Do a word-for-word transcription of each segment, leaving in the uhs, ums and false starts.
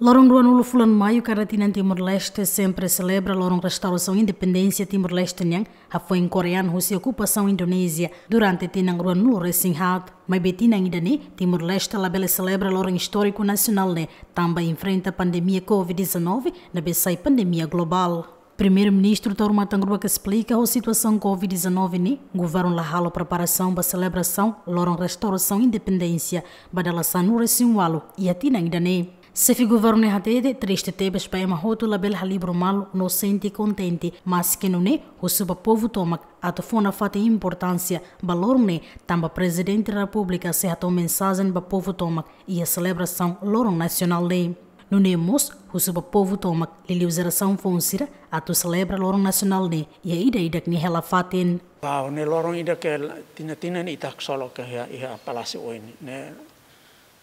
Loron ruanulu fulan Maiu kada tinan, Timor-Leste sempre selebra loron restaurasaun independénsia Timor-Leste nian hafoin korean husi okupasaun Indonézia durante tinan ruanulu resin haat. Maibé tinan ida-ne'e, Timor-Leste labele selebra loron istóriku nasionál ne'e tanba enfrenta pandemia covid dezanove, ne'ebé sai pandemia globál. Primeiru-Ministru Taur Matan Ruak esplika ho situasaun covid dezanove ne'e, governu la halo preparasaun ba selebrasaun loron restaurasaun independénsia ba dala sanulu resin ualu iha tinan ida-ne'e. Xefe governu ne'e hatete triste tebes ba ema hotu labele halibur malu no sente kontente, maske nune'e husu ba povu tomak atu fó nafatin importánsia ba loron ne'e, tanba Prezidente Repúblika sei hato'o mensajen ba povu tomak iha selebrasaun loron nasionál ne'e. Nune'e mós husu ba povu tomak, liuliu jerasaun foun sira, atu selebra loron nasionál ne'e iha ida-idak nia hela-fatin. Ba, ne'e loron ida ke la-, tinan-tinan ne'e ita haksolok iha, iha Palásiu O N ne'e.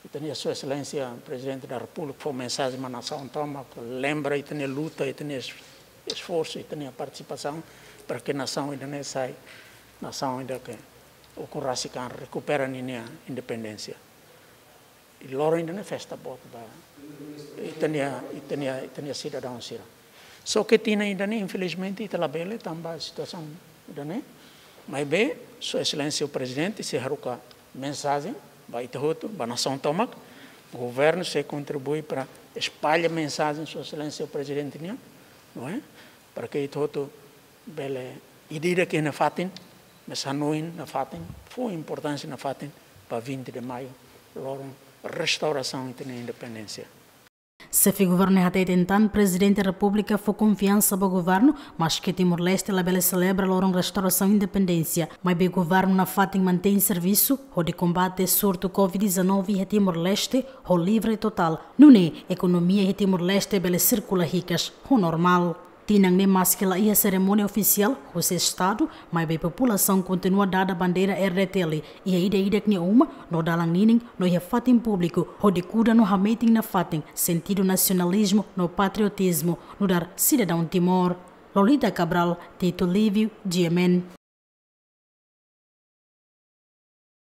Ita-nia Sua Exelénsia Prezidente da Repúblika fó mensajen ba nasaun tomak, lembra ita-nia luta, ita-nia es-, esforsu, ita-nia partisipasaun para ke nasaun ida-ne'e sai nasaun ida ke ukun rasik an, rekupera ninia independénsia. I loron ida-ne'e festa boot ba ita-nia, ita-nia, ita-nia sidadaun sira. Só ke tinan ida-ne'e, infelizmente, ita labele tanba situasaun ida-ne'e. Maibé Sua Exelénsia Prezidente sei haruka mensajen ba ita hotu, ba nasaun tomak. Governu sei kontribui para espalla mensajen Sua Exelénsia Prezidente nian, não é? Para ke ita hotu bele ida-idak iha nia fatin, mas hanoin nafatin, fó importánsia nafatin ba vinte de Maio, loron restaurasaun ita-nia independénsia. Xefe governu ne'e hatete tan, Prezidente Repúblika fó konfiansa ba governu, maske Timor-Leste labele selebra loron restaurasaun independénsia, maibé governu nafatin mantein servisu hodi kombate surtu covid dezanove iha Timor-Leste ho livre totál. Nune'e ekonomia iha Timor-Leste bele sirkula hikas ho normál. Tinan ne'e maske la iha serimónia ofisiál husi Estadu, maibé populasaun kontinua dada bandeira R D T L iha ida-idak nia uma, no dalan ninin, no iha fatin públiku, hodi kuda no hametin nafatin sentidu nasionalizmu no patriotizmu nu'udar sidadaun Timor. Lolita Cabral, Tito Lívio, G M N.